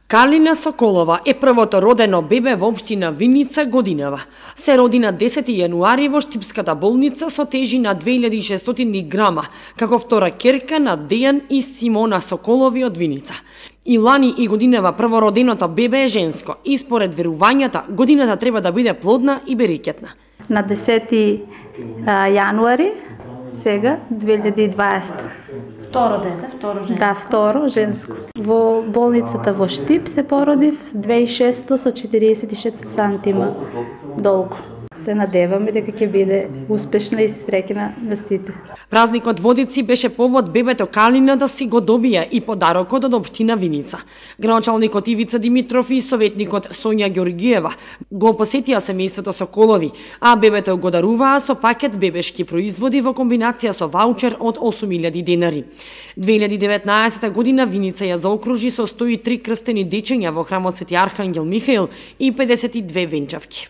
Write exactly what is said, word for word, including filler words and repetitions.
Калина Соколова е првото родено бебе во општина Виница годинава. Се роди на десети јануари во Штипската болница со тежина две илјади и шестстотини грама, како втора ќерка на Дејан и Симона Соколови од Виница. И лани и годинава првороденото бебе е женско и според верувањата годината треба да биде плодна и берекетна. На десети јануари сега две илјади и дваесета. Второ дете, второ женско. Да, второ женско. Во болницата во Штип се породив две илјади и шесто со четириесет и шест сантима долго. Се надеваме дека ќе биде успешна и среќна на сите. Празникот Водици беше повод бебето Калина да си го добија и подарокот од општина Виница. Градоначалникот Ивица Димитров и советникот Сонја Ѓоргиева го посетија семејството Соколови, а бебето го даруваа со пакет бебешки производи во комбинација со ваучер од осум илјади денари. две илјади и деветнаесета година Виница ја заокружи со сто и три крстени дечиња во храмот Свети Архангел Михаил и педесет и две венчавки.